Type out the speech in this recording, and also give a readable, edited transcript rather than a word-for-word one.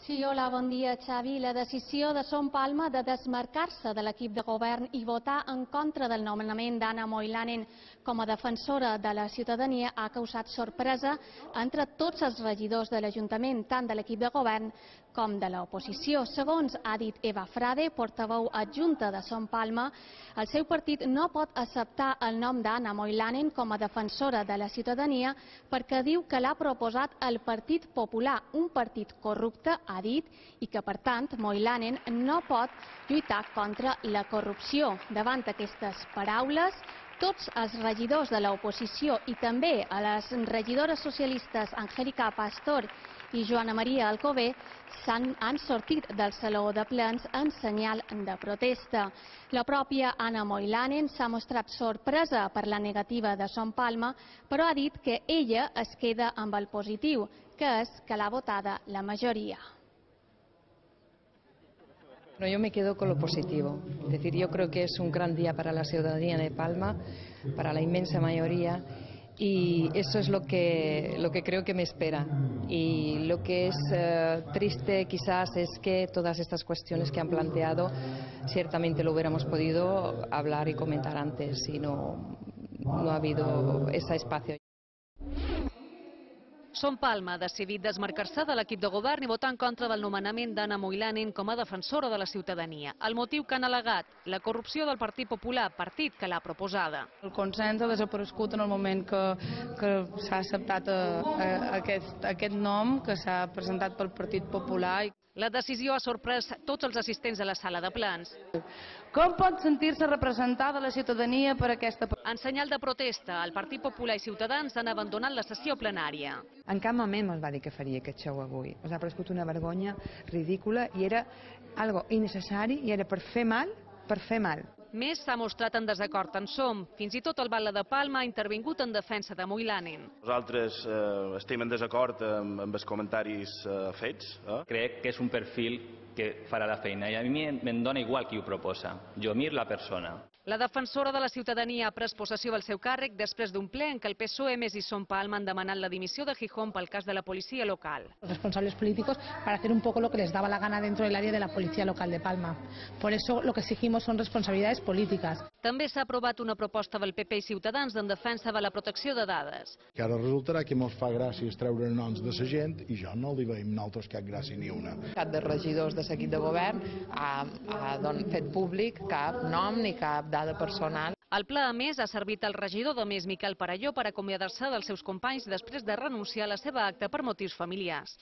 Sí, hola, bon dia, Xavi. La decisió de Son Palma de desmarcar-se de l'equip de govern i votar en contra del nomenament d'Anna Moilanen com a defensora de la ciutadania ha causat sorpresa entre tots els regidors de l'Ajuntament, tant de l'equip de govern com de l'oposició. Segons ha dit Eva Frade, portaveu adjunta de Son Palma, el seu partit no pot acceptar el nom d'Anna Moilanen com a defensora de la ciutadania perquè diu que l'ha proposat el Partit Popular, un partit corrupte, ha dit, i que, per tant, Moilanen no pot lluitar contra la corrupció. Davant aquestes paraules, tots els regidors de l'oposició i també a les regidores socialistes Angélica Pastor i Joana Maria Alcover han sortit del saló de plens en senyal de protesta. La pròpia Anna Moilanen s'ha mostrat sorpresa per la negativa de Son Palma, però ha dit que ella es queda amb el positiu, que és que l'ha votada la majoria. Yo me quedo con lo positivo, es decir, yo creo que es un gran día para la ciudadanía de Palma, para la inmensa mayoría, y eso es lo que creo que me espera. Y lo que es triste quizás es que todas estas cuestiones que han planteado ciertamente lo hubiéramos podido hablar y comentar antes y no ha habido ese espacio. Son Palma ha decidit desmarcar-se de l'equip de govern i votar en contra del nomenament d'Anna Moilanen com a defensora de la ciutadania. El motiu que han al·legat, la corrupció del Partit Popular, partit que l'ha proposada. El consens ha desaparegut en el moment que s'ha acceptat aquest nom que s'ha presentat pel Partit Popular. La decisió ha sorprès tots els assistents a la sala de plens. Com pot sentir-se representada la ciutadania per aquesta... En senyal de protesta, el Partit Popular i Ciutadans han abandonat la sessió plenària. En cap moment ens va dir que faria aquest show avui. Ens ha paregut una vergonya ridícula i era algo innecessari i era per fer mal, per fer mal. Més s'ha mostrat en desacord en Som. Fins i tot el Batlle de Palma ha intervingut en defensa de Moilanen. Nosaltres estem en desacord amb els comentaris fets. Crec que és un perfil que farà la feina i a mi em dona igual qui ho proposa. Jo mir la persona. La defensora de la ciutadania ha pres possessió del seu càrrec després d'un ple en què el PSOE més i Son Palma han demanat la dimissió de Gijón pel cas de la policía local. Los responsables políticos para hacer un poco lo que les daba la gana dentro del área de la policía local de Palma. Por eso lo que exigimos son responsabilidades políticas. També s'ha aprovat una proposta del PP i Ciutadans en defensa de la protecció de dades. Que ara resultarà que mos fa gràcia treure noms de la gent i jo no li veiem nosaltres cap gràcia ni una. Cap de regidors de l'equip de govern ha fet públic cap nom ni cap dada personal. El pla, a més, ha servit al regidor de Més, Miquel Parelló, per acomiadar-se dels seus companys després de renunciar a la seva acta per motius familiars.